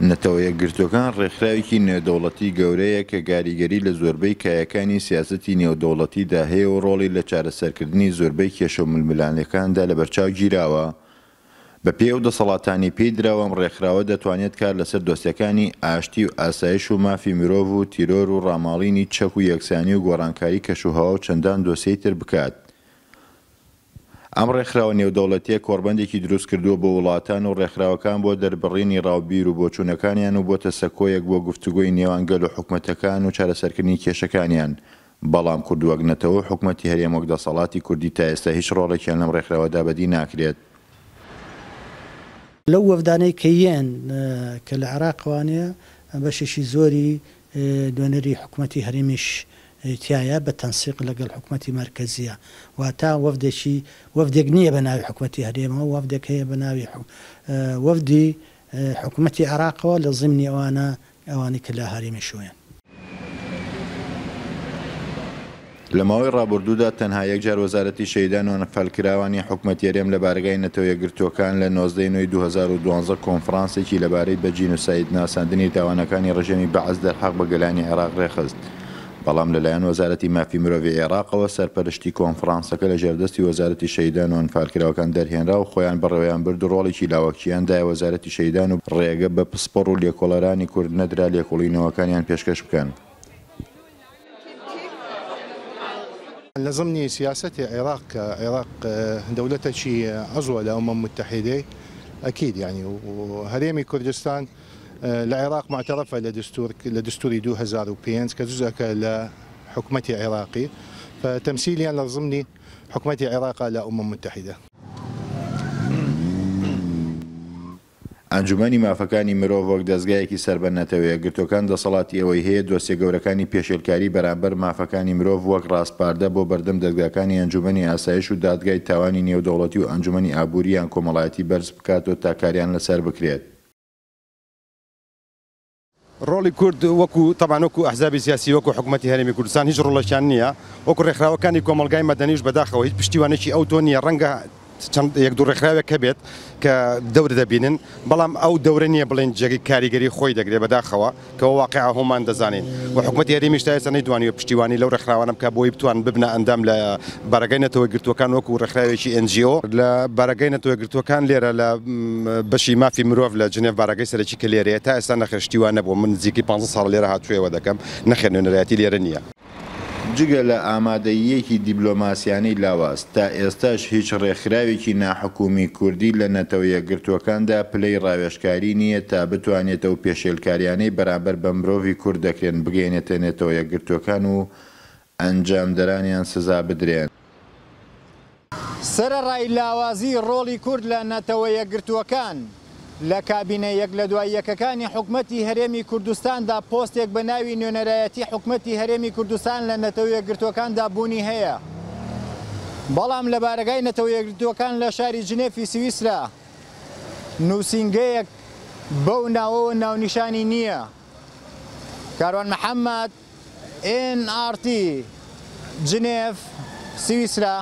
نەتەوە یەکگرتووەکان ڕێکخراوێکی نێودەوڵەتی گەورەیە کە گاریگەری لە زۆربەی کایەکانی سیاسەتی نێودەوڵەتیدا هەیە و ڕۆڵی لە چارەسەرکردنی زۆربەی کێشە و ململانێکاندا لەبەرچاو گیراوە. بەپێی ئەو دەسەڵاتانەی پێی دراوە ئەم ڕێکخراوە دەتوانێت کار لەسەر دۆسیەکانی ئاشتی و ئاسایش و مافی مرۆڤ و تیرۆر و ڕاماڵینی چەک و یەکسانی و گۆڕانکاری کەشوهەوا و چەندان دۆسیەی تر بکات. ئەم ڕێکخراوە نێودەوڵەتییە کۆڕبەندێکی دروست کردووە بۆ وڵاتان و ڕێکخراوەکان بۆ دەربڕینی ڕا و بیر و بۆچوونەکانیان و بۆتە سەکۆیەک بۆ گفتوگۆی نێوان گەل و حکومەتەکان و چارەسەرکردنی کێشەکانیان، بەڵام کورد وەک نەتەوە و حکومەتی هەرێم وەک دەسەڵاتی کوردی تا ئێستا هیچ ڕۆڵێکیان لەم ڕێکخراوەدا بەدی ناکرێت. لەو وەفدانەی کە یێن کە لە عێراقەوانەیە بەشێکی زۆری نوێنەری حکومەتی هەرێمیش تیایە بە تەنسیق لەگەڵ حکومەتی مەرکەزیە واتا وەفدێکی وەفدێک نییە بە ناوی حکومەتی هەرێمەوە وەفدێک هەیە بە ناوی وەفدی حکومەتی عێراقەوە لە زیمنی ئەوانە ئەوانەی کە لە هەرێمیشۆیەن. لە ماوەی ڕابوردوودا تەنها یەک جار وەزارەتی شەهیدان و ئەنفالکراوانی حکومەتی هەرێم لە بارەگای نەتەوە یەکگرتووەکان لە 19 ی نۆی 2012 کۆنفرانسێکی لەبارەی بە جینۆساید ناساندنی تاوانەکانی ڕژێمی بەعس دەرحەق بە گەلانی عێراق ڕێکخست بەڵام لەلایەن وەزارەتی مافی مرۆڤی عێراقەوە سەرپەرشتی کۆنفرانسەکە لە ژێردەستی وەزارەتی شەهیدان و ئەنفالکراوەکان دەرهێنرا و خۆیان بەڕێوەیان برد و ڕۆڵێکی لاوەکییان دایە وەزارەتی شەهیدان و ڕێگە بە پسپۆڕ و لێکۆڵەرانی کورد نەدرا لێکۆڵینەوەکانیان پێشکەش بکەن. لە زمنی سیاسەتی عێراق کە عێراق دەولەتەکی عضوە لە ئومەم متحدەی ئەکید یانی و هەرێمی کوردستان لە عێراق معتەرەفە لە دستور لە دستوری 2005 کە جزئەکە لە حکومەتی عێراقی فتەمسیلیان لە زمنی حکومەتی عێراقە لە ئومەم متحدە. ئەنجومەنی مافەکانی مرۆڤ وەک دەزگایەکی سەر بە نەتەوە یەکگرتووەکان دەسەڵاتی ئەوەی هەیە دۆسیە گەورەکانی پێشێلکاری بەرامبەر مافەکانی مرۆڤ وەک ڕاسپاردە بۆ بەردەم دەزگاکانی ئەنجومەنی ئاسایش و دادگای تاوانی نێودەوڵەتی و ئەنجومەنی ئابووری یان کۆمەڵایەتی بەرز بکاتەوە تا کاریان لەسەر بکرێت. ڕۆڵی کورد وەکو تەبعەن وەکو ئەحزابی سیاسی وەکو حکومەتی هەرێمی کوردستان هیچ ڕۆڵێکیان نییە، وەکو ڕێکخراوەکانی کۆمەڵگای مەدەنیش بەداخەوە هیچ پشتیوانێکی ئەوتۆ نییە، ڕەنگە چەند یەک دوو ڕێکخراوێک هەبێت کە دەور دەبینن، بەڵام ئەو دەورە نییە بڵێین جێگەی کاریگەری خۆی دەگرێت، بەداخەوە کە وە واقیعە هۆمان دەزانین و حکومەتی هەرێمیش تا ئێستا نەیتوانیوە پشتیوانی لەو ڕێکخراوانە بکات بۆی بتوانن ببنە ئەندام لە بارەگای نەتەوە یەکگرتووەکان وەکو ڕێکخراوێکی NGO. لە بارەگای نەتەوە یەکگرتووەکان لێرە لە بەشی مافی مرۆڤ لە جنێڤ بارەگای سەرەکی کە لێرەیە تا ئێستا نەخێر شتی وا نەبووە من نزیکەی پانزە ساڵە لێرە هاتووێوە دەکەم نەخێر نوێنەرایەتی لێرە نییە. جگە لە ئامادەییەکی دیبلۆماسیانەی لاواز، تا ئێستاش هیچ ڕێکخراوێکی ناحکومی کوردی لە نەتەوە یەکگرتووەکاندا پلەی ڕاوێژکاری نییە تا بتوانێت ئەو پێشێلکاریانەی بەرامبەر بە مرۆڤی کورد دەکرێن بگەیەنێتە نەتەوە یەکگرتووەکان و ئەنجامدەرانیان سزا بدرێن. سەرەڕای لاوازیی ڕۆڵی کورد لە نەتەوە یەکگرتووەکان، لە کابینە یەک لە دوای یەکەکانی حکومەتی هەرێمی کوردستاندا پۆستێک بە ناوی نوێنەرایەتی حکومەتی هەرێمی کوردستان لە نەتەوە یەکگرتووەکاندا بوونی هەیە، بەڵام لە بارەگای نەتەوە یەکگرتووەکان لە شاری جنێفی سویسرا نووسینگەیەک بەو ناوەوە ناونیشانی نییە. کاروان محەمەد، ئێن ئاڕ تی، جنێف، سویسرا.